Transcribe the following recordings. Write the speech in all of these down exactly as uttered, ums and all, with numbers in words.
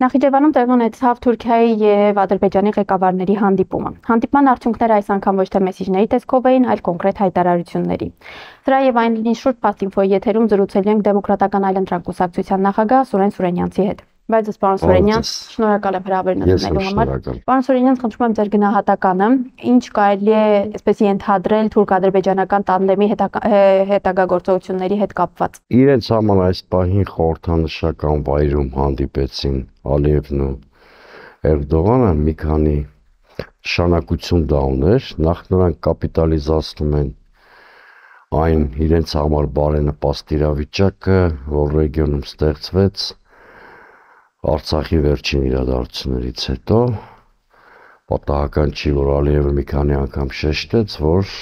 Նախիջևանում տեղի ունեցավ Թուրքիայի եւ Ադրբեջանի ղեկավարների հանդիպումը։ Հանդիպման արդյունքները այս անգամ ոչ թե մեսիջների տեսքով էին, այլ կոնկրետ հայտարարությունների։ Սրա եւ այն շուրջ Փաստինֆոյի եթերում զրուցել ենք Դեմոկրատական այլընտրանք կուսակցության նախագահ Սուրեն Սուրենյանցի հետ։ Բայց պարոն Սուրենյան, շնորհակալ եմ հրավերն ընդունելու համար։ Պարոն Սուրենյան, խնդրում եմ ձեր գնահատականը, ինչ կարելի է այսպես ենթադրել թուրք-ադրբեջանական տանդեմի հետագա գործողությունների հետ կապված։ Իրենց համար այս պահին խորհրդանշական վայրում հանդիպեցին Ալիևն ու Էրդողանը, մի քանի նշանակություն դա ուներ, նախ նրանք կապիտալիզացնում են այն իրենց համար բարենպաստ իրավիճակը, որ ռեգիոնում ստեղծվեց Արցախի վերջին իրադարձություններից հետո, պատահական չի, որ Ալիևը մի քանի անգամ շեշտեց, որ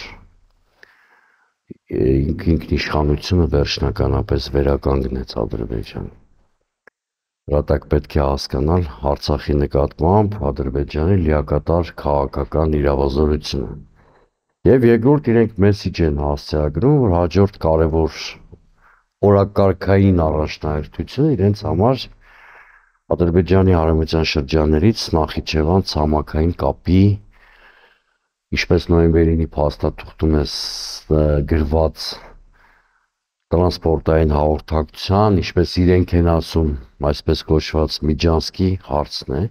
ինքնիշխանությունը վերջնականապես վերականգնեց Ադրբեջանը։ Հրատակ պետք է հասկանալ Արցախի նկատմամբ Ադրբեջանի լիակատար քաղաքական իրավազորությունը։ Եվ երկրորդ իրենք մեսիջ են հասցեագրում, որ հաջորդ կարևոր օրակարգային առաջնահերթությունը իրենց համար Ադրբեջանի արևմտյան շրջաններից Նախիջևան ցամաքային կապի, ինչպես նոյեմբերի փաստաթուղթում է գրված տրանսպորտային հաղորդակցության, ինչպես իրենք են ասում, այսպես կոչված Միջանսկի հարցն է,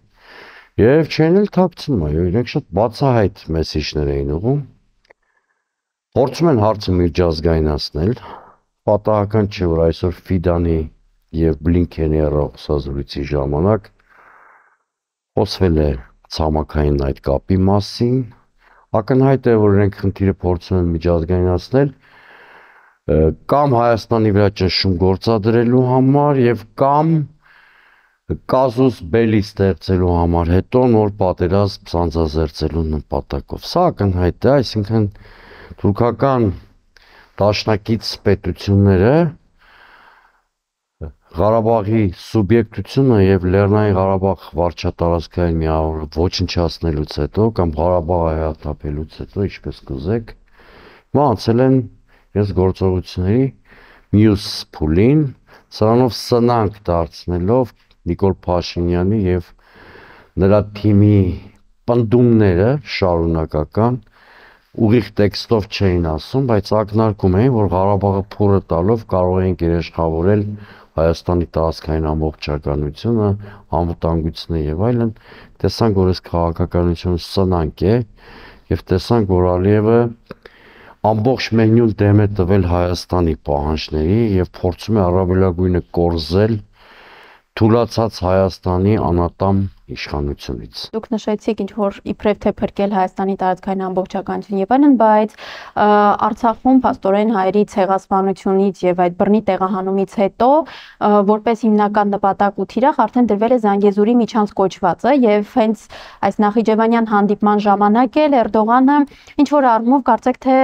եւ չեն էլ թաքցնում, այո, իրենք շատ բացահայտ մեսիջներ էին ուղղում, փորձում են հարցը միջազգայնացնել, պատահական չէ, որ այսօր Ֆիդանի եւ Բլինքենի հեռախոսազրույցի ժամանակ խոսվել է ցամաքային այդ կապի մասին, ակնհայտ է, որ իրենք խնդիրը փորձում են միջազգայնացնել կամ Հայաստանի վրա ճնշում գործադրելու համար եւ կամ կազուս բելի ստեղծելու համար, հետո նոր պատերազմ սանձազերծելու նպատակով։ Սա ակնհայտ է, այսինքն թուրքական դաշնակից պետությունները Ղարաբաղի սուբյեկտությունը եւ Լեռնային Ղարաբաղ վարչատարածքային միավորը ոչնչացնելուց հետո կամ Ղարաբաղը հրատապելուց հետո, ինչպես կուզեք, մահացել են ես գործողությունների մյուս փուլին, սրանով սնանկ դարձնելով Նիկոլ Փաշինյանի եւ նրա թիմի պնդումները շարունակական ուղիղ տեքստով չէին ասում, բայց ակնարկում էին, որ Ղարաբաղը փորը տալով կարող են երաշխավորել Հայաստանի տարածքային ամբողջականությունը, անվտանգությունը եւ այլն, տեսանք, որ այս քաղաքականությունը սնանկ է եւ տեսանք, որ Ալիևը ամբողջ մենյուն դեմ է տվել Հայաստանի պահանջների եւ փորձում է առավելագույնը կորզել թուլացած Հայաստանի անատամ իշխանությունից։ Դուք նշեցիք ինչ որ իբրև թե փրկել Հայաստանի տարածքային ամբողջականություն եւ այլն, բայց Արցախում փաստորեն հայերի ցեղասպանությունից եւ այդ բռնի տեղահանումից հետո որպես հիմնական նպատակ ու թիրախ արդեն դրվել է Զանգեզուրի միջանց կոչվածը եւ հենց այս նախիջևանյան հանդիպման ժամանակ էլ Էրդողանը ինչ որ առումով կարծեք թե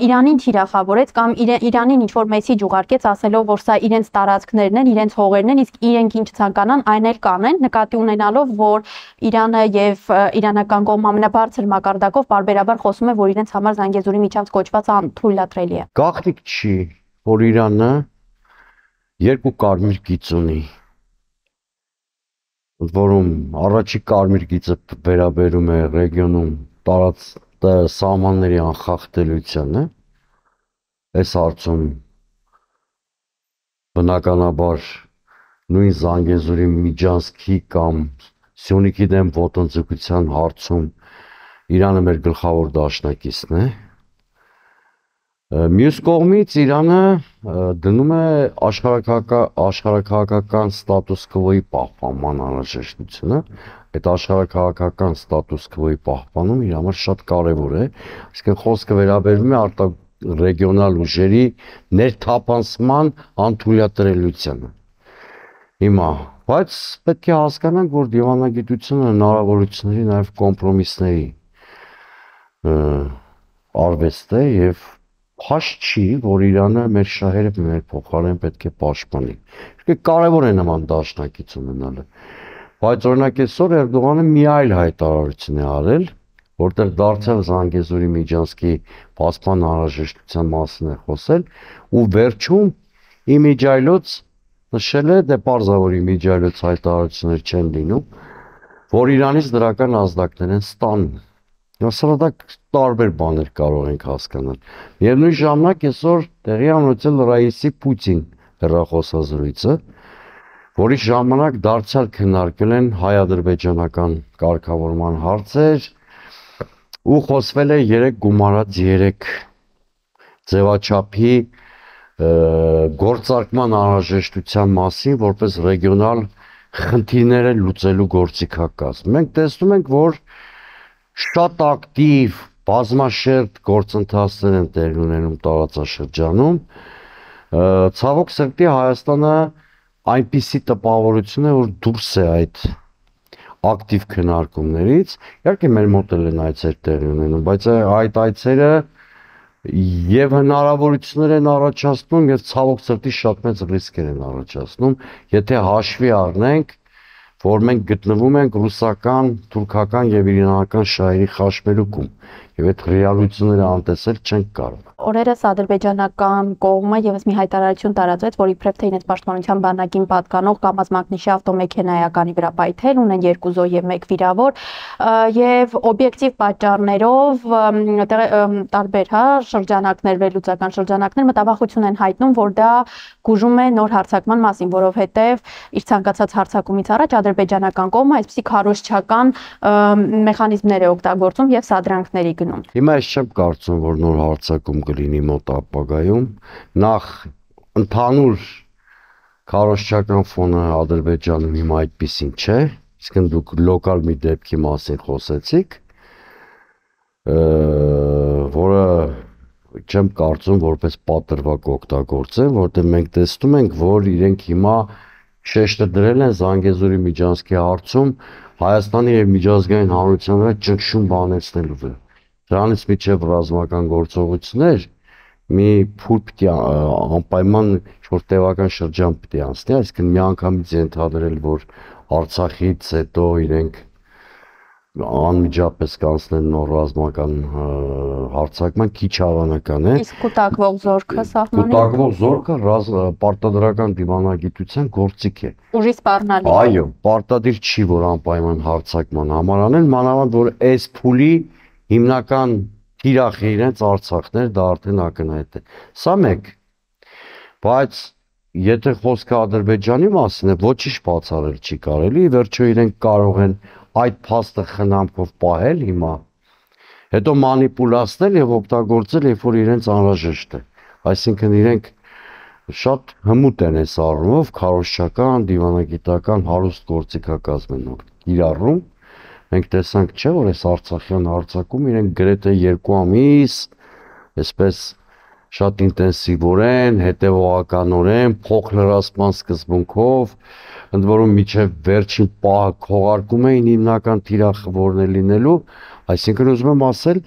Իրանին թիրախավորեց կամ Իրանին ինչ որ մեսիջ ուղարկեց ասելով որ սա իրենց տարածքներն են, իրենց հողերն են, իսկ իրենք ինչ ցանկանան այն էլ կանեն, նկատի ունենալով, որ Իրանը եւ իրանական կողմը ամենաբարձր մակարդակով բարբերաբար խոսում է, որ իրենց համար Զանգեզուրի միջանց կոչվածը անթույլատրելի է։ Գաղտնիք չի, որ Իրանը երկու կարմիր գիծ ունի, որում առաջի կարմիր գիծը վերաբերում է ռեգիոնում տարած սահմանների անխախտելիությանը, այս հարցում բնականաբար նույն Զանգեզուրի Միջանցքի կամ Սյունիքի դեմ ոտնձգության հարցում Իրանը մեր գլխավոր դաշնակիցն է։ Մյուս կողմից Իրանը դնում է աշխարհաքաղաքական ստատուս քվոյի պահպանման անհրաժեշտությունը, այդ աշխարհաքաղաքական ստատուս քվոյի պահպանումը իր համար շատ կարևոր է, այսինքն խոսքը վերաբերում է արտա ռեգիոնալ ուժերի ներթափանցման անթույլատրելիությանը։ Հիմա, բայց պետք է հասկանանք, որ դիվանագիտությունը հնարավորությունների, նաև կոմպրոմիսների արվեստ է եւ փաշ չի, որ Իրանը մեր շահերը մեր փոխարեն պետք է պաշտպանի։ Իսկ կարևոր է նման դաշնակից ունենալը։ Բայց օրինակ այսօր Էրդողանը մի այլ հայտարարություն է արել, որտեղ դարձյալ Զանգեզուրի Միջանցքի պաշտպան անհրաժեշտության մասին է խոսել ու վերջում իմիջայլոց նշել է, դե պարզավորի միջայլոց հայտարարություններ չեն լինում, որ Իրանից դրական ազդակներ են ստանում։ Հուսալադակ տարբեր բաներ կարող ենք հասկանալ։ Միևնույն ժամանակ այսօր տեղի ունեցել Ռաիսի Պուտին հեռախոսազրույցը, որի ժամանակ դարձյալ քննարկել են հայ-ադրբեջանական կարգավորման հարցեր ու խոսվել է երեք գումարած երեք ձևաչափի գործարկման անհրաժեշտության մասին, որպես ռեգիոնալ խնդիրները լուծելու գործիքակազմ։ Մենք տեսնում ենք, որ շատ ակտիվ բազմաշերտ գործընթացներ են տեղի ունենում տարածաշրջանում։ Ցավոք սրտի Հայաստանը այնպիսի տպավորություն է, որ դուրս է այդ ակտիվ քննարկումներից։ Իհարկե մեր մոտ են այցեր տեղի ունենում, բայց այդ այցերը եւ հնարավորություններ են առաջացնում եւ ցավոք սրտի շատ մեծ ռիսկեր են առաջացնում, եթե հաշվի առնենք, որ մենք գտնվում ենք ռուսական, թուրքական եւ իրանական շահերի խաչմերուկում եւ այդ ռեալությունները անտեսել չենք կարող։ Օրերս ադրբեջանական կողմը եւս մի հայտարարություն տարածեց, որ իբրև թե իրենց պաշտպանության բանակին պատկանող Կամազ-Մակնիշի ավտոմեքենայականի վրա պայթել, ունեն երկու զոհ եւ մեկ վիրավոր, եւ օբյեկտիվ պատճառներով տարբեր հա շրջանակներ, վերլուծական շրջանակներ մտավախություն են հայտնում, որ դա գուժում է նոր հարձակման մասին, որովհետեւ իր ցանկացած հարձակումից առաջ ադրբեջանական կողմը այսպիսի քարոզչական մեխանիզմներ է օգտագործում եւ սադրանքների գնում։ Հիմա ես չեմ կարծում, որ նոր հարձակում կլինի մոտ ապագայում, նախ ընդհանուր քարոզչական ֆոնը Ադրբեջանում հիմա այդպեսին չէ, իսկ դուք լոկալ մի դեպքի մասին խոսեցիք, որը չեմ կարծում որպես պատրվակ օգտագործեն, որտեղ մենք տեսնում ենք, որ իրենք հիմա շեշտը դրել են Զանգեզուրի միջանցքի հարցում Հայաստանի եւ միջազգային հանրության վրա ճնշում բանեցնելու վրա։ Դրանից միջև ռազմական գործողություններ մի փուլ պիտի անպայման ինչ-որ տևական շրջան պիտի անցնի, այսինքն միանգամից ենթադրել, որ Արցախից հետո իրենք անմիջապես կանցնեն նոր ռազմական հարձակման քիչ հավանական է։ Իսկ կուտակվող զորքը սահմանի։ Կուտակվող զորքը պարտադրական դիվանագիտության գործիք է։ Ուժի սպառնալի։ Այո, պարտադիր չի, որ անպայման հարձակման համար անեն, մանավանդ որ այս փուլի հիմնական թիրախը իրենց Արցախն էր, դա արդեն ակնհայտ է։ Սա մեկ։ Բայց եթե խոսքը Ադրբեջանի մասին է, ոչինչ բացառել չի կարելի, վերջո իրենք կարող են այդ փաստը խնամքով պահել հիմա, հետո մանիպուլացնել եւ օգտագործել, երբ որ իրենց անհրաժեշտ է։ Այսինքն իրենք շատ հմուտ են այս առումով, քարոզչական, դիվանագիտական հարուստ գործիքակազմ են իրառում։ Մենք տեսանք, չէ, որ այս Արցախյան հարձակում իրենք գրեթե երկու ամիս այսպես շատ ինտենսիվորեն, հետևողականորեն, փոխլրացման սկզբունքով, ընդ որում միջև վերջին պահը քողարկում էին հիմնական թիրախը որն է լինելու, այսինքն ուզում եմ ասել,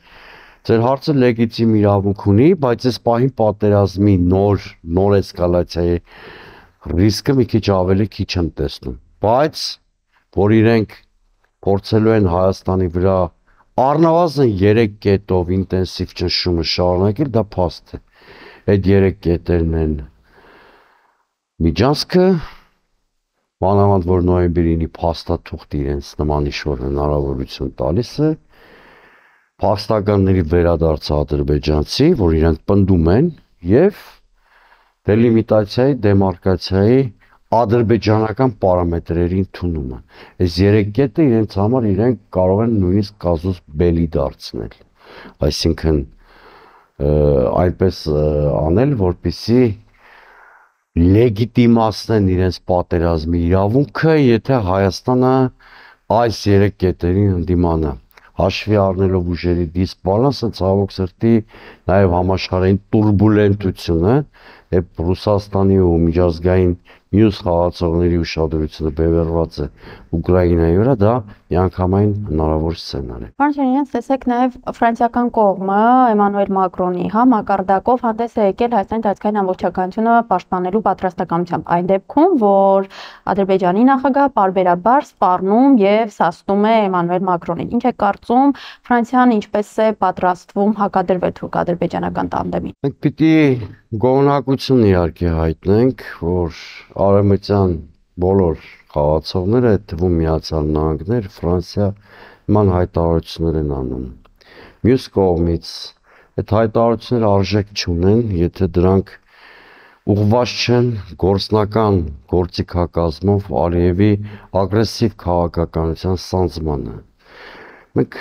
ձեր հարցը լեգիտիմ իրավունք ունի, բայց այս պահին պատերազմի նոր նոր էսկալացիայի ռիսկը մի քիչ ավելի քիչ եմ տեսնում, բայց որ իրենք փորձելու են Հայաստանի վրա առնվազն երեք կետով ինտենսիվ ճնշումը շարունակել, դա փաստ է։ Այդ երեք կետերն են միջանցքը, մանավանդ որ նոյեմբերինի փաստաթուղթ իրենց նման ինչ-որ հնարավորություն տալիս է, փաստականների վերադարձը ադրբեջանցի, որ իրանք պնդում են, եւ դելիմիտացիայի, դեմարկացիայի ադրբեջանական պարամետրերի ընդունումը։ Այս երեք կետը իրենց համար իրենք կարող են նույնիսկ կազուս բելի դարձնել։ Այսինքն այնպես անել, որպեսզի լեգիտիմացնեն իրենց պատերազմի իրավունքը, եթե Հայաստանը այս երեք կետերին ընդդիմանա։ Հաշվի առնելով ուժերի դիսբալանսը, ցավոք սրտի նաև համաշխարհային տուրբուլենտությունը, երբ Ռուսաստանի ու միջազգային մյուս խաղացողների ուշադրությունը բևեռված է Ուկրաինայի վրա, դա միանգամայն հնարավոր սցենար է։ Պարոն Շահինյան, տեսեք նաև ֆրանսիական կողմը Էմանուել Մակրոնի հա մակարդակով հանդես է եկել Հայաստանի տարածքային ամբողջականությունը պաշտպանելու պատրաստակամությամբ, այն դեպքում, որ Ադրբեջանի նախագահ պարբերաբար սպառնում եւ սաստում է Էմանուել Մակրոնին։ Ինչ է կարծում, Ֆրանսիան ինչպես է պատրաստվում հակադրվել թուրք-ադրբեջանական տանդեմին։ Մենք պիտի գոհունակություն իհարկե հայտնենք, որ արևմտյան բոլոր խաղացողները, այդ թվում Միացյալ Նահանգներ, Ֆրանսիա նման հայտարարություններ են անում։ Մյուս կողմից այդ հայտարարությունները արժեք չունեն, եթե դրանք ուղղված չեն գործնական գործիքակազմով Ալիևի ագրեսիվ քաղաքականության սանձմանը։ Մենք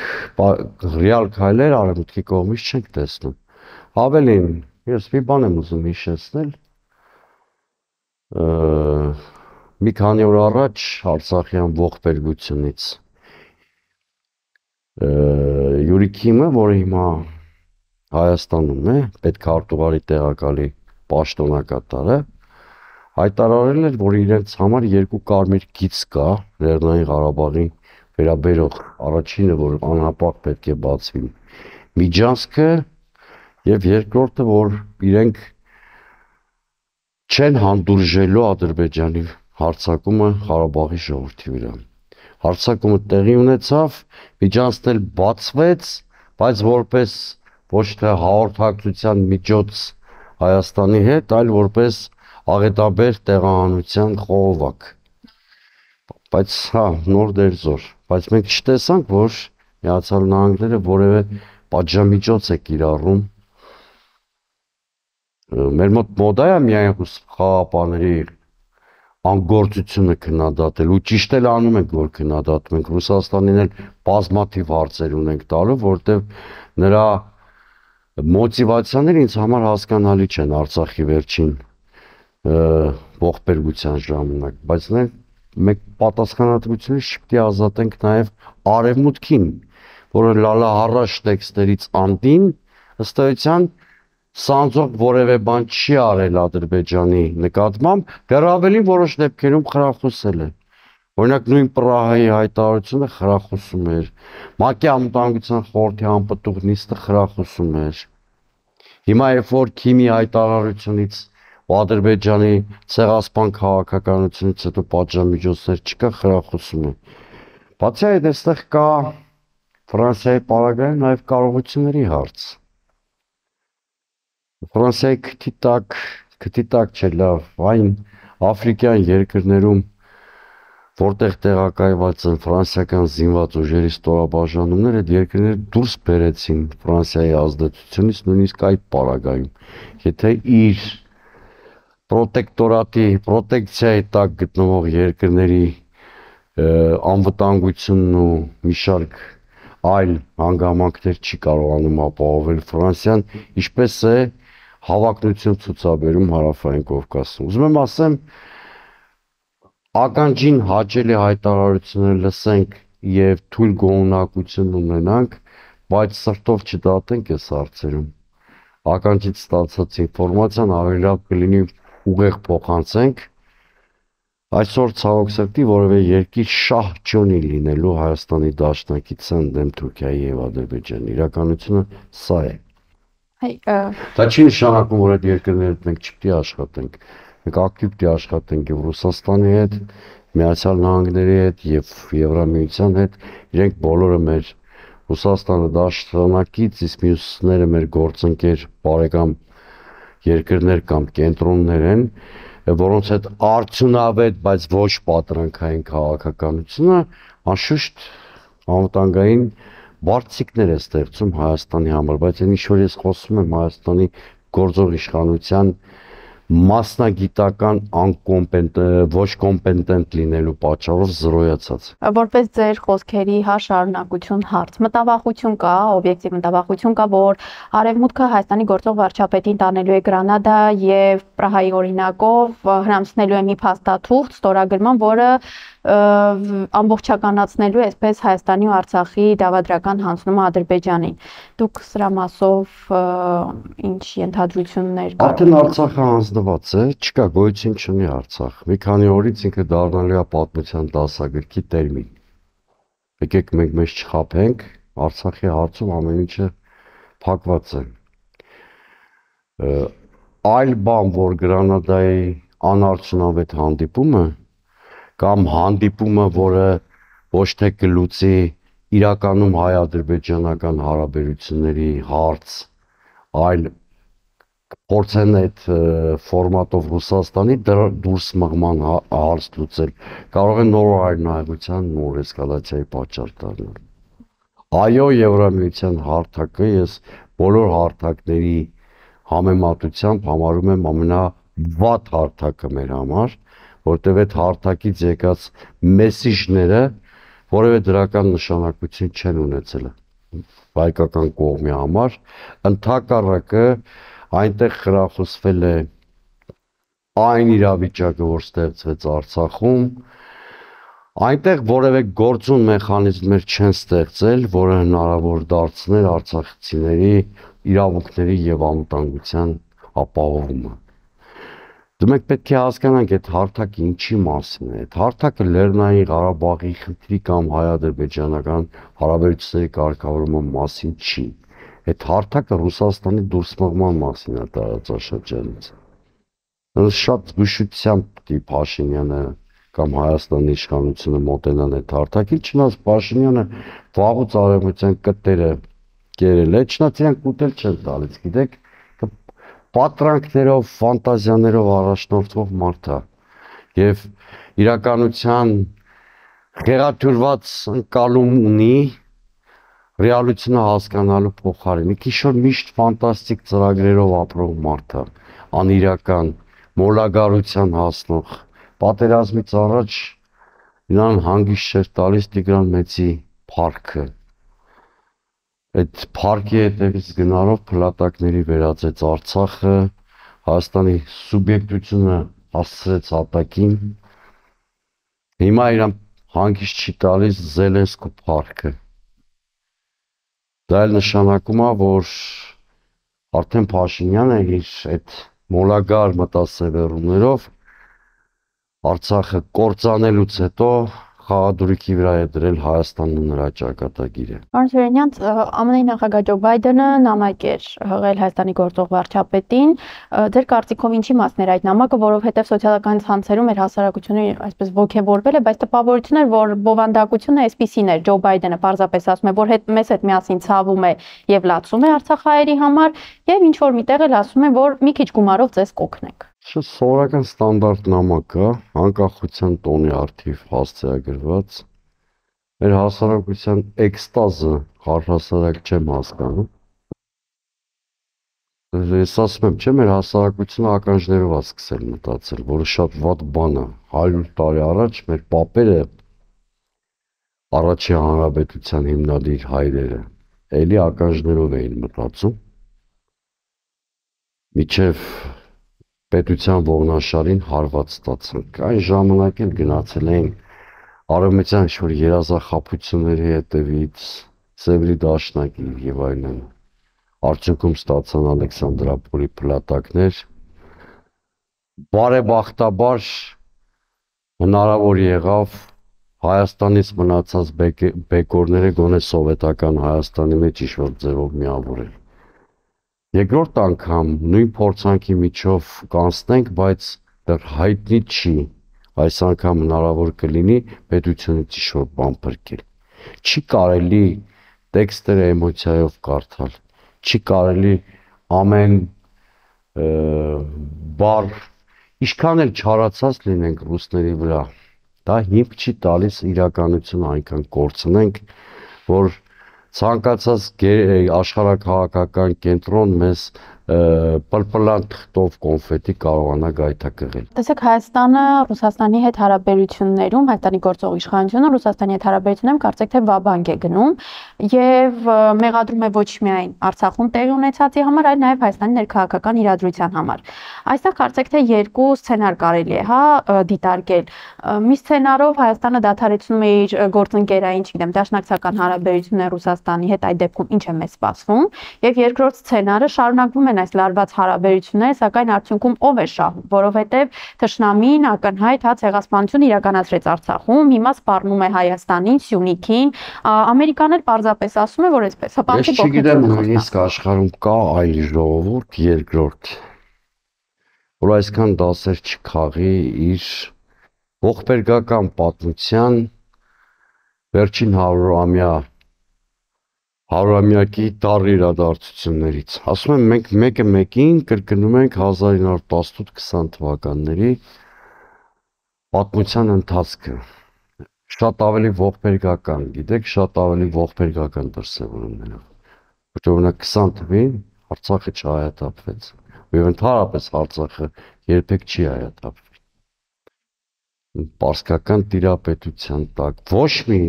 ռեալ քայլեր արևմուտքի կողմից չենք տեսնում։ Ավելին, ես մի բան եմ ուզում հիշեցնել, մի քանի օր առաջ Արցախյան ողբերգությունից Յուրի Քիմը, որը հիմա Հայաստանում է, պետքարտուղարի տեղակալի պաշտոնակատարը, հայտարարել էր, որ իրենց համար երկու կարմիր գիծ կա Լեռնային Ղարաբաղի վերաբերող առաջինը, որ անհապաղ պետք է բացվի միջանցքը, եւ երկրորդը, որ իրենք չեն հանդուրժելու Ադրբեջանի հարձակումը Ղարաբաղի ժողովրդի վրա։ Հարձակումը տեղի ունեցավ, միջանցքն էլ բացվեց, բայց որպես ոչ թե հաղորդակցության միջոց Հայաստանի հետ, այլ որպես աղետաբեր տեղահանության խողովակ։ Բայց հա, նոր դերձոր, բայց մենք չտեսանք, որ Միացյալ Նահանգները որևէ պատժամիջոց է կիրառում։ Մեր մոտ մոդա է միայն խաղապաների անգործությունը քննադատել, ու ճիշտ էլ անում ենք, որ քննադատում ենք։ Ռուսաստանին էլ բազմաթիվ հարցեր ունենք տալու, որտեղ նրա մոտիվացիաները ինձ համար հասկանալի չեն Արցախի վերջին ողբերգության ժամանակ, բայց մենք պատասխանատվությունից չպետք է ազատենք նաև արևմուտքին, որը լալա առաջ տեքստերից անդին ըստ էության սանձող որևէ բան չի արել Ադրբեջանի նկատմամբ, դեռ ավելին որոշ դեպքերում խրախուսել է։ Օրինակ նույն Պրահայի հայտարարությունը խրախուսում էր, ՄԱԿ-ի անվտանգության խորհրդի անպտուղ նիստը խրախուսում էր։ Հիմա երբ որ Քիմի հայտարարությունից ու Ադրբեջանի ցեղասպան քաղաքականությունից հետո պատժամիջոցներ չկա, խրախուսում է։ Բացի այդ, այստեղ կա Ֆրանսիայի պարագայում նաև կարողությունների հարց։ Ֆրանսիայի քթի տակ, քթի տակ չէ լավ, այն աֆրիկյան երկրներում, որտեղ տեղակայված են ֆրանսիական զինված ուժերի ստորաբաժանումները, այդ երկրները դուրս բերեցին Ֆրանսիայի ազդեցությունից, նույնիսկ այդ պարագայում։ Եթե իր պրոտեկտորատի, պրոտեկցիայի տակ գտնվող երկրների անվտանգությունն ու մի շարք այլ հանգամանքներ չի կարողանում ապահովել Ֆրանսիան, ինչպես է հավակնություն ցուցաբերում Հարավային Կովկասում։ Ուզում եմ ասեմ, ականջին հաճելի հայտարարություններ լսենք եւ թույլ գոհունակություն ունենանք, բայց սրտով չդատենք այս հարցերում։ Ականջից ստացած ինֆորմացիան ավելի լավ կլինի ուղեղ փոխանցենք։ Այսօր ցավոք սրտի որևէ երկիր շահ չունի լինելու Հայաստանի Դաշնակցության դեմ Թուրքիայի եւ Ադրբեջանի։ Իրականությունը սա է։ Դա չի նշանակում, որ այդ երկրների հետ մենք չպետք է աշխատենք։ Մենք ակտիվ պետք է աշխատենք եւ Ռուսաստանի հետ, Միացյալ Նահանգների հետ եւ Եվրամիության հետ, իրենք բոլորը մեր Ռուսաստանը դաշնակից, իսկ մյուսները մեր գործընկեր բարեկամ երկրներ կամ կենտրոններ են, որոնց հետ արդյունավետ, բայց ոչ պատրանքային քաղաքականությունը անշուշտ անվտանգային բարձիկներ է ստեղծում Հայաստանի համար, բայց այն ինչ որ ես խոսում եմ Հայաստանի գործող իշխանության մասնագիտական անկոմպետենտ, ոչ կոմպետենտ լինելու պատճառով զրոյացած։ Որպես ձեր խոսքերի հա շարունակություն հարց, մտավախություն կա, օբյեկտիվ մտավախություն կա, որ Արևմուտքը Հայաստանի գործող վարչապետին տանելու է Գրանադա եւ Պրահայի օրինակով հրամցնելու է մի փաստաթուղթ ստորագրման, որը ամբողջականացնելու է այսպես Հայաստանի ու Արցախի դավադրական հանձնումը Ադրբեջանին։ Դուք սրա մասով ինչ ենթադրություններ կան։ Արդեն Արցախը հանձնված է, չկա գոյություն չունի Արցախ։ Մի քանի օրից ինքը դառնալու է պատմության դասագրքի տերմին։ Եկեք մենք մեզ չխաբենք, Արցախի հարցում ամեն ինչը փակված է։ Այլ բան, որ Գրանադայի անարդյունավետ հանդիպումը կամ հանդիպումը, որը ոչ թե կլուծի իրականում հայ-ադրբեջանական հարաբերությունների հարց, այլ փորձեն այդ ֆորմատով Ռուսաստանի դուրս մղման հարց լուծել, կարող են նոր հայրենայության նոր էսկալացիայի պատճառ դառնալ։ Այո, Եվրամիության հարթակը ես բոլոր հարթակների համեմատությամբ համարում եմ ամենավատ հարթակը մեր համար, որտեղ այդ հարթակից եկած մեսիջները որևէ դրական նշանակություն չեն ունեցել հայկական կողմի համար, ընդհակառակը այնտեղ խրախուսվել է այն իրավիճակը, որ ստեղծվեց Արցախում, այնտեղ որևէ գործուն մեխանիզմներ չեն ստեղծել, որը հնարավոր դարձներ արցախցիների իրավունքների եւ անվտանգության ապահովումը։ Դուք պետք է հասկանանք այդ հարթակը ինչի մասին է։ Այդ հարթակը Լեռնային Ղարաբաղի խնդրի կամ հայ-ադրբեջանական հարաբերությունների կարգավորման մասին չի։ Այդ հարթակը Ռուսաստանի դուրս մղման մասին է տարածաշրջանից։ Շատ զգուշությամբ պիտի Փաշինյանը կամ Հայաստանի իշխանությունը մոտենան այդ հարթակին, չնայած Փաշինյանը վաղուց արևմտյան կտերը կերել է, չնայած իրանք ուտել չեն տալիս, գիտեք, պատրանքներով, ֆանտազիաներով առաջնորդվող մարդ է եւ իրականության խեղաթյուրված ընկալում ունի ռեալությունը հասկանալու փոխարեն։ Քիշոր միշտ ֆանտաստիկ ծրագրերով ապրող մարդ է, անիրական, մոլագարության հասնող։ Պատերազմից առաջ նրան հանգիստ չէր տալիս Տիգրան Մեծի փառքը։ Այդ փառքի հետևից գնալով փլատակների վերածեց Արցախը, Հայաստանի սուբյեկտությունը հասցրեց հատակին։ Հիմա իրան հանգիստ չի տալիս Զելենսկու փառքը։ Դա էլ նշանակում է, որ արդեն Փաշինյանը իր այդ մոլագար մտասևեռումներով Արցախը կործանելուց հետո խաղադրույքի վրա է դրել Հայաստանն ու նրա ճակատագիրը։ Պարոն Սուրենյան, ԱՄՆ-ի նախագահ Ջո Բայդենը նամակ էր հղել Հայաստանի գործող վարչապետին։ Ձեր կարծիքով ինչի մասն էր այդ նամակը, որովհետև սոցիալական ցանցերում էր հասարակությունը այսպես ոգևորվել է, բայց տպավորություն էր, որ բովանդակությունը այսպիսին էր։ Ջո Բայդենը պարզապես ասում է, որ հետ մեզ հետ միասին ցավում է եւ լացում է արցախահայերի համար, եւ ինչ որ միտեղ էլ ասում է, որ մի քիչ գումարով ձեզ կօգնենք։ Շատ սովորական ստանդարտ նամակ է, անկախության տոնի արդիվ հասցեագրված։ Մեր հասարակության էկստազը առհասարակ չեմ հասկանում։ Ես ասում եմ, չէ, մեր հասարակությունը ականջներով է սկսել մտածել, որը շատ վատ բան է։ հարյուր տարի առաջ մեր պապերը առաջին հանրապետության հիմնադիր հայրերը էլի ականջներով էին մտածում։ Միջև պետության ողնաշարին հարված ստացանք։ Այն ժամանակ էլ գնացել էին արևմտյան ինչ-որ երազախաբությունների հետևից, Սևրի դաշնակի եւ այլն։ Արդյունքում ստացան Ալեքսանդրապոլի փլատակներ։ Բարեբախտաբար հնարավոր եղավ Հայաստանից մնացած բեկորները գոնե սովետական Հայաստանի մեջ ինչ-որ ձևով միավորել։ Երկրորդ անգամ նույն փորձանքի միջով կանցնենք, բայց դեռ հայտնի չի, այս անգամ հնարավոր կլինի պետությունից ինչ-որ բան փրկել։ Չի կարելի տեքստերը էմոցիայով կարդալ, չի կարելի ամեն բառ ինչքան էլ չարացած լինենք ռուսների վրա, դա հիմք չի տալիս իրականությունը այնքան կորցնենք, որ ցանկացած աշխարհաքաղաքական կենտրոն մեզ պլպլան թղթով կոնֆետի կարողանա գայթակղել։ Տեսեք, Հայաստանը Ռուսաստանի հետ հարաբերություններում, Հայաստանի գործող իշխանությունը Ռուսաստանի հետ հարաբերություններում կարծեք թե վաբանկ է գնում եւ մեղադրում է ոչ միայն Արցախում տեղի ունեցածի համար, այլ նաեւ Հայաստանի ներքաղաքական իրադրության համար։ Այստեղ կարծեք թե երկու սցենար կարելի է, հա, դիտարկել։ Մի սցենարով Հայաստանը դադարեցնում է իր գործընկերային, չգիտեմ, դաշնակցական հարաբերությունները Ռուսաստանի հետ, այդ դեպքում ինչ է մեզ սպասվում, եւ երկրորդ սցենարը շարունակվում են այս լարված հարաբերությունները, սակայն արդյունքում ով է շահում, որովհետեւ թշնամին ակնհայտ հա ցեղասպանություն իրականացրեց Արցախում, հիմա սպառնում է Հայաստանին, Սյունիքին, Ամերիկան էլ պարզապես ասում է, որ այսպես հպանցի փոխություն։ Ես չգիտեմ, նույնիսկ աշխարհում կա այլ ժողովուրդ երկրորդ, որ այսքան դասեր չքաղի իր ողբերգական պատմության վերջին հարյուրամյա հարյուրամյակի տառ իրադարձություններից։ Ասում եմ, մենք մեկը մեկին կրկնում ենք հազար ինը հարյուր տասնութ քսան թվականների պատմության ընթացքը։ Շատ ավելի ողբերգական, գիտեք, շատ ավելի ողբերգական դրսևորումներով։ Որտեղ օրինակ քսան թվականին Արցախը չհայաթափվեց, եւ ընդհանրապես Արցախը երբեք չի հայաթափվի։ Պարսկական տիրապետության տակ, ոչ մի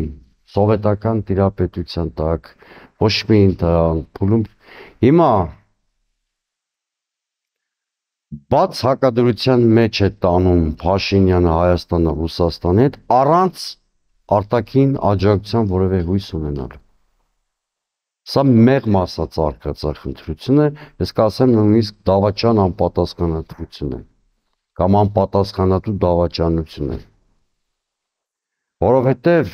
սովետական տիրապետության տակ, ոչ մի փուլում հիմա բաց հակադրության մեջ է տանում Փաշինյանը Հայաստանը Ռուսաստանի հետ առանց արտաքին աջակցության որևէ հույս ունենալ։ Սա մեղմ ասած արկածախնդրություն է, ես կասեմ նույնիսկ դավաճան անպատասխանատվություն է կամ անպատասխանատու դավաճանություն է։ Որովհետև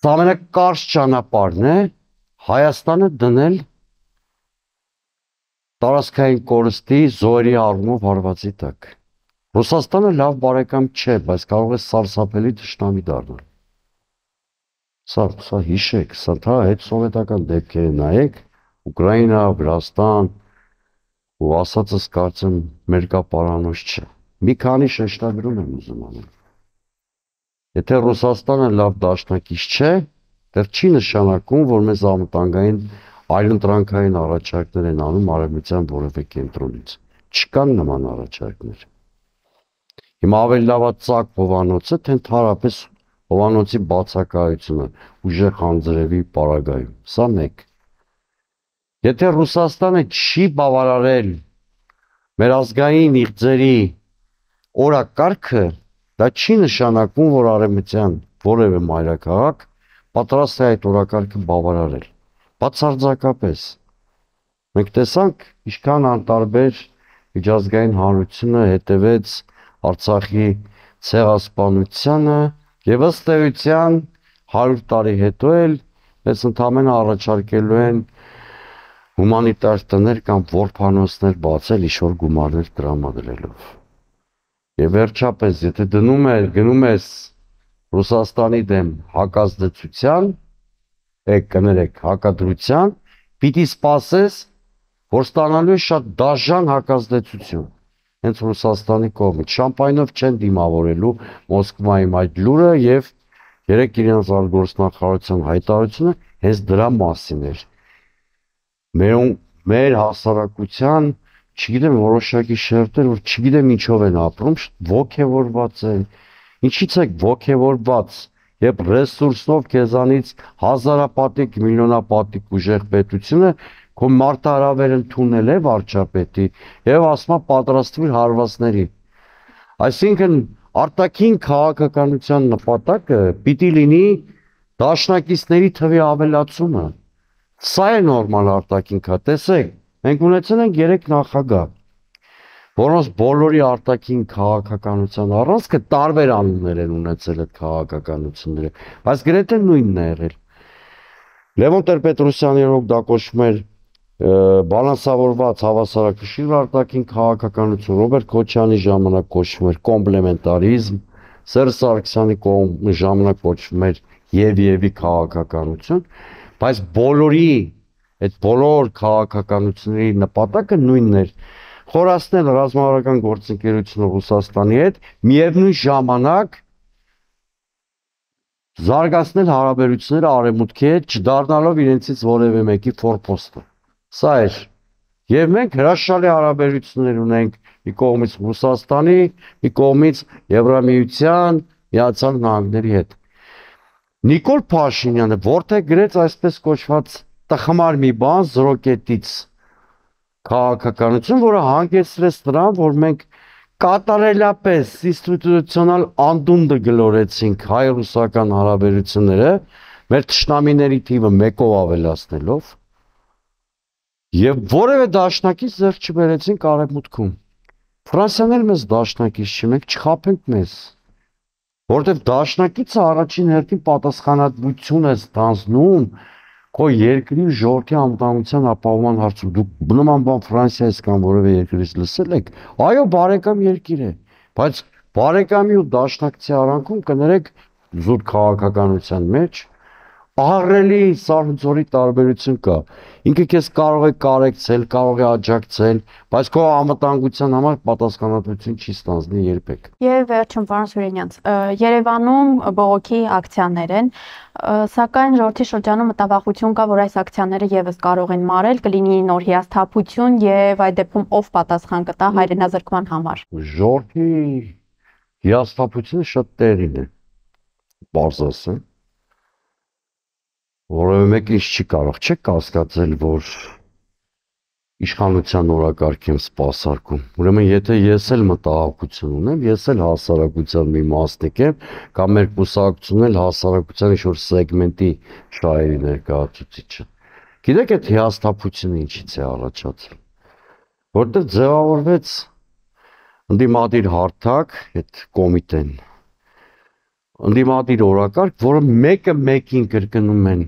սա ամենակարճ ճանապարհն է Հայաստանը դնել տարածքային կորստի զոհերի առումով հարվածի տակ։ Ռուսաստանը լավ բարեկամ չէ, բայց կարող է սարսափելի թշնամի դառնալ։ Սա, սա հիշեք, սա թա հետ սովետական դեպքերը նայեք, Ուկրաինա, Վրաստան, ու ասածս կարծեմ մերկապարանոց չէ։ Մի քանի շեշտադրում եմ ուզում անել։ Եթե Ռուսաստանը լավ դաշնակից չէ, դեռ չի նշանակում, որ մեզ անվտանգային այլընտրանքային առաջարկներ են անում արևմտյան որևէ կենտրոնից։ Չկան նման առաջարկներ։ Հիմա ավելի լավա ծակ հովանոցը, թե ընդհանրապես հովանոցի բացակայությունը ուժեղ անձրևի պարագայում։ Սա մեկ։ Եթե Ռուսաստանը չի բավարարել մեր ազգային իղձերի օրակարգը, դա չի նշանակում, որ արևմտյան որևէ մայրաքաղաք պատրաստ է այդ օրակարգը բավարարել։ Բացարձակապես։ Մենք տեսանք, ինչքան անտարբեր միջազգային հանրությունը հետևեց Արցախի ցեղասպանությանը եւ ըստ էության հարյուր տարի հետո էլ մեզ ընդամենը առաջարկելու են հումանիտար տներ կամ որբանոցներ բացել ինչ-որ գումարներ տրամադրելով։ Եվ վերջապես, եթե դնում ես, գնում ես Ռուսաստանի դեմ հակազդեցության, եք կներեք հակադրության, պիտի սպասես, որ ստանալու է շատ դաժան հակազդեցություն։ Հենց Ռուսաստանի կողմից շամպայնով չեն դիմավորելու Մոսկվայում այդ լուրը եւ երեք իրենց արտգործնախարարության հայտարարությունը հենց դրա մասին էր։ Մեր մեր հասարակության, չգիտեմ, որոշակի շերտեր, որ չգիտեմ ինչով են ապրում, ոգևորված են։ Ինչից է ոգևորված, երբ ռեսուրսով քեզանից հազարապատիկ, միլիոնապատիկ ուժեղ պետությունը քո մարտահրավեր ընդունել է վարչապետի եւ ասում է պատրաստվիր հարվածների։ Այսինքն արտաքին քաղաքականության նպատակը պիտի լինի դաշնակիցների թվի ավելացումը։ Սա է նորմալ արտաքին քա, տեսեք, մենք ունեցել ենք երեք նախագահ, որոնց բոլորի արտաքին քաղաքականության առանցքը տարբեր անուններ են ունեցել այդ քաղաքականությունները, բայց գրեթե նույնն է եղել։ Լևոն Տեր-Պետրոսյանի օրոք դա կոչվում էր բալանսավորված հավասարակշիռ արտաքին քաղաքականություն, Ռոբերտ Քոչյանի ժամանակ կոչվում էր կոմպլեմենտարիզմ, Սերժ Սարգսյանի ժամանակ կոչվում էր եւ-եւի քաղաքականություն, բայց բոլորի այդ բոլոր քաղաքականությունների նպատակը նույնն էր՝ խորացնել ռազմավարական գործընկերությունը Ռուսաստանի հետ, միևնույն ժամանակ զարգացնել հարաբերությունները արևմուտքի հետ, չդառնալով իրենցից որևէ մեկի ֆորպոստը։ Սա էր։ Եվ մենք հրաշալի հարաբերություններ ունենք մի կողմից Ռուսաստանի, մի կողմից Եվրամիության, Միացյալ Նահանգների հետ։ Նիկոլ Փաշինյանը որտեղ գրեց այսպես կոչված տխմար մի բան զրոկետից քաղաքականություն, որը հանգեցրեց նրան, որ մենք կատարելապես ինստիտուցիոնալ անդունդը գլորեցինք հայ-ռուսական հարաբերությունները, մեր թշնամիների թիվը մեկով ավելացնելով, եւ որևէ դաշնակից ձեռք չբերեցինք արևմուտքում։ Ֆրանսիան էլ մեզ դաշնակից չի, մենք չխաբենք մեզ, որովհետեւ դաշնակիցը առաջին հերթին պատասխանատվություն է ստանձնում քո երկրի ժողովրդի անվտանգության ապահովման հարցում։ Դուք նման բան Ֆրանսիայից կամ որևէ երկրից լսել եք։ Այո, բարեկամ երկիր է, բայց բարեկամի ու դաշնակցի արանքում կներեք զուտ քաղաքականության մեջ ահռելի սարսուձորի տարբերություն կա։ Ինքը քեզ կարող է կարեկցել, կարող է աջակցել, բայց քո անվտանգության համար պատասխանատվություն չի ստանձնի երբեք։ Եվ վերջում, պարոն Սուրենյանց, Երևանում բողոքի ակցիաներ են, սակայն ժողովրդի շրջանում մտավախություն կա, որ այս ակցիաները եւս կարող են մարել, կլինի նոր հիասթափություն եւ այդ դեպքում ով պատասխան կտա հայրենազրկման համար։ Ժողովրդի հիասթափությունը շատ տեղին է, բարձ ասեմ, որովհետև մեկ ինչ չի կարող, չեք կասկածել, որ իշխանության օրակարգ եմ սպասարկում։ Ուրեմն եթե ես էլ մտահոգություն ունեմ, ես էլ հասարակության մի մասնիկ եմ, կամ մեր կուսակցությունն էլ հասարակության ինչ-որ սեգմենտի շահերի ներկայացուցիչը։ Գիտեք այդ հիասթափությունը ինչից է առաջացել։ Որտեղ ձևավորվեց ընդդիմադիր հարթակ, այդ կոմիտեն, ընդդիմադիր օրակարգ, որը մեկը մեկին կրկնում են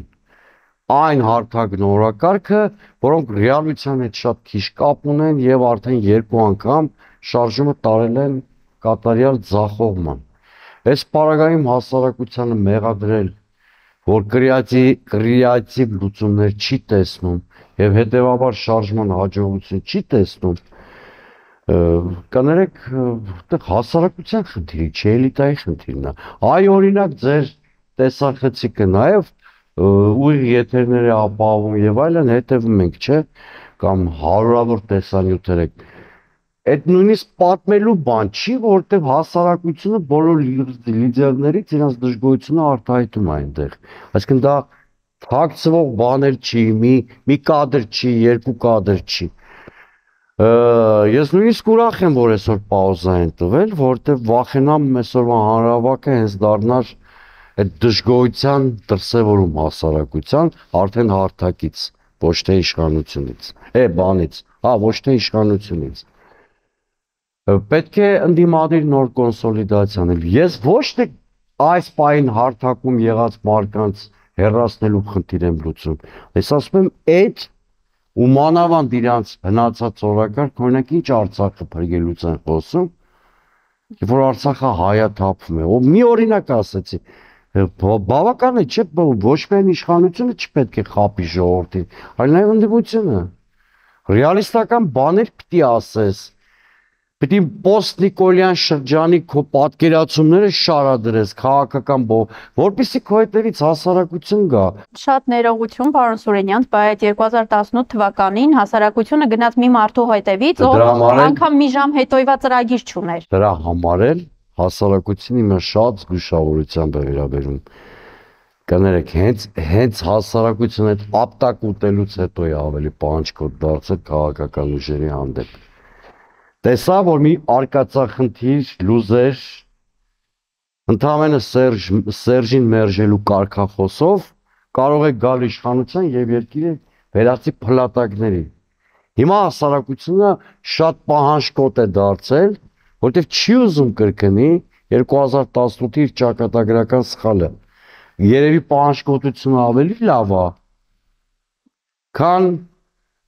այն հարթակն օրակարգը, որոնք ռեալության հետ շատ քիչ կապ ունեն եւ արդեն երկու անգամ շարժումը տարել են կատարյալ ձախողման։ Այս պարագայում հասարակությանը մեղադրել, որ կրեատիվ լուծումներ չի տեսնում եւ հետեւաբար շարժման հաջողություն չի տեսնում, կներեք, այդտեղ հասարակության խնդիրի չէ, էլիտայի խնդիրն է։ Այ օրինակ ձեր տեսախցիկը նաեւ ուղիղ եթերներ է ապահովում եւ այլն, հետևում ենք, չէ, կամ հարյուրավոր տեսանյութեր եք։ Այդ նույնիսկ պատմելու բան չի, որովհետեւ հասարակությունը բոլոր լիդերներից իրենց դժգոհությունը արտահայտում է այնտեղ։ Այսինքն դա թաքցվող բաներ չի, մի մի կադր չի, երկու կադր չի։ Ես նույնիսկ ուրախ եմ, որ այսօր պաուզա են տվել, որովհետեւ վախենամ այսօրվա հանրավակը հենց դառնար այդ դժգոհության դրսևորում հասարակության արդեն հարթակից, ոչ թե իշխանությունից, է բանից, հա, ոչ թե իշխանությունից։ Պետք է ընդդիմադիր նոր կոնսոլիդացիա անել։ Ես ոչ թե այս պահին հարթակում եղած մարկանց հեռացնելու խնդիր եմ լուծում։ Ես ասում եմ, այդ ու մանավանդ իրանց հնացած օրակարգ, օրինակ ինչ Արցախը փրկելուց են խոսում, որ Արցախը հայաթափվում է։ Ո մի օրինակ ասեցի, բավական է, չէ, ոչ միայն իշխանությունը չպետք է խաբի ժողովրդին, այլ նաև ընդդիմությունը։ Ռեալիստական բաներ պիտի ասես, պիտի պոստնիկոլյան շրջանի քո պատկերացումները շարադրես քաղաքական բով, որպեսզի քո հետևից հասարակություն գա։ Շատ ներողություն, պարոն Սուրենյան, բայց երկու հազար տասնութ թվականին հասարակությունը գնաց մի մարդու հետևից, ով անգամ մի ժամ հետոյվա ծրագիր չուներ։ Դրա համար էլ հասարակությունը իմը շատ զգուշավորությամբ է վերաբերում։ Կներեք, հենց հենց հասարակությունը այդ ապտակ ուտելուց հետո է ավելի պահանջկոտ դարձել քաղաքական ուժերի հանդեպ։ Տեսա, որ մի արկածախնդիր լուզեր ընդհանրապես Սերժ Սերժին մերժելու կարգախոսով կարող է գալ իշխանության եւ երկիրը վերածի փլատակների։ Հիմա հասարակությունը շատ պահանջկոտ է դարձել, որտեղ չի ուզում կրկնի երկու հազար տասնութի իր ճակատագրական սխալը։ Երևի պահանջկոտությունը ավելի լավ է, քան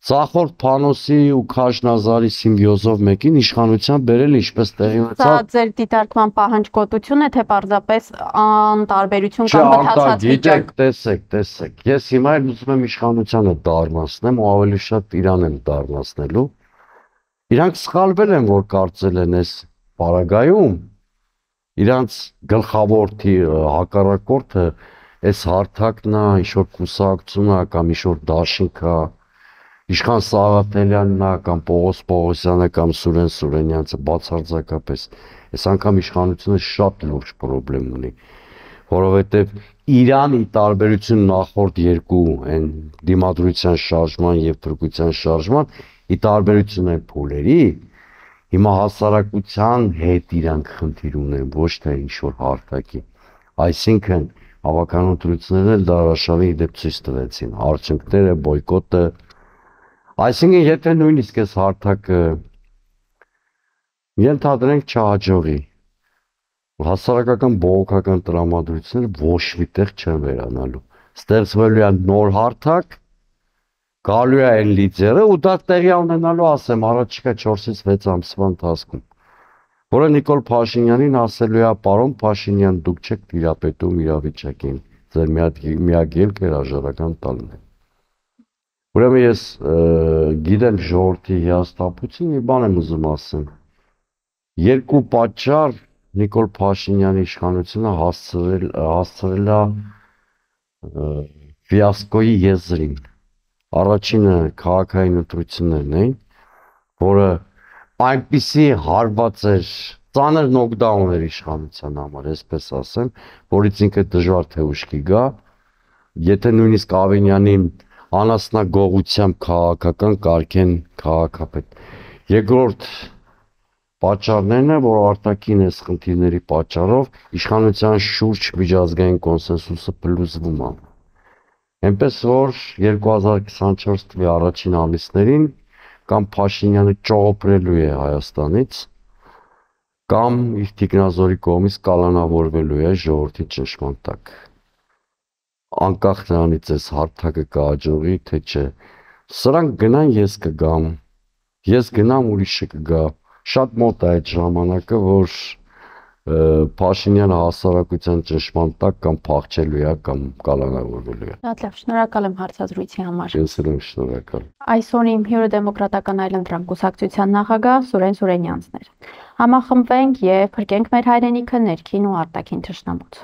Ծախորդ Փանոսի ու Քաշնազարի սիմբիոզով մեկին իշխանության բերել ինչպես տեղի ունեցավ։ Սա ձեր դիտարկման պահանջկոտություն է, թե պարզապես անտարբերություն կամ մտածած վիճակ։ Տեսեք, տեսեք, ես հիմա էլ ուզում եմ իշխանությանը դառնացնեմ ու ավելի շատ իրան եմ դառնացնելու։ Իրանք սխալվել են, որ կարծել են այս պարագայում իրանց գլխավոր հակառակորդը այս հարթակն է, ինչ-որ կուսակցություն է կամ ինչ-որ դաշինք է, Իշխան Սաղաթելյանն է կամ Պողոս Պողոսյանը կամ Սուրեն Սուրենյանցը բացարձակապես։ Այս անգամ իշխանությունը շատ լուրջ խնդրեմ ունի, որովհետև Իրանի տարբերություն նախորդ երկու այն դիմադրության շարժման եւ փրկության շարժման, ի տարբերություն այն փուլերի, հիմա հասարակության հետ իրանք խնդիր ունեն, ոչ թե ինչ-որ հարթակի։ Այսինքն հավաքական ընտրություններն էլ դարաշավի դեպ ցույց տվեցին, արդյունքները, բոյկոտը։ Այսինքն եթե նույնիսկ այս հարթակը ենթադրենք չհաջողի, հասարակական բողոքական տրամադրությունները ոչ միտեղ չեն վերանալու։ Ստեղծվելու է նոր հարթակ, գալու է այն լիդերը ու դա տեղի ունենալու ասեմ առաջիկա չորսից վեց ամսվա ընթացքում։ որը Նիկոլ Փաշինյանին ասելու է, պարոն Փաշինյան, դուք չեք տիրապետում իրավիճակին, ձեր միակ ելքը հրաժարական տալն է։ Ուրեմն ես գիտեմ ժողովրդի հիասթափություն, մի բան եմ ուզում ասեմ։ Երկու պատճառ Նիկոլ Փաշինյանի իշխանությունը հասցրել հասցրել է ֆիասկոյի եզրին։ Առաջինը քաղաքային ընտրություններն էին, որը այնպիսի հարված էր, ծանր նոկդաուն էր իշխանության համար, այսպես ասեմ, որից ինքը դժվար թե ուշքի գա, եթե նույնիսկ Ավենյանին անասնագողությամբ քաղաքական կարգեն քաղաքապետ։ Երկրորդ պատճառներն է, որ արտաքին այս խնդիրների պատճառով իշխանության շուրջ միջազգային կոնսենսուսը փլուզվում է։ Այնպես որ երկու հազար քսանչորս թվականի առաջին ամիսներին կամ Փաշինյանը ճողոպրելու է Հայաստանից, կամ իր թիկնազորի կողմից կալանավորվելու է ժողովրդի ճնշման տակ։ Անկախ նրանից այս հարթակը կհաջողի, թե չէ։ Սրանք գնան, ես կգամ, ես գնամ, ուրիշը կգա։ Շատ մոտ է այդ ժամանակը, որ Փաշինյանը հասարակության ճնշման տակ կամ փախչելու է, կամ կալանավորվելու է։ Շատ լավ, շնորհակալ եմ հարցազրույցի համար։ Ես էլ եմ շնորհակալ։ Այսօր իմ հյուրը դեմոկրատական այլընտրանք կուսակցության նախագահ Սուրեն Սուրենյանցն էր։ Համախմբվենք եւ փրկենք մեր հայրենիքը ներքին ու արտաքին թշնամուց։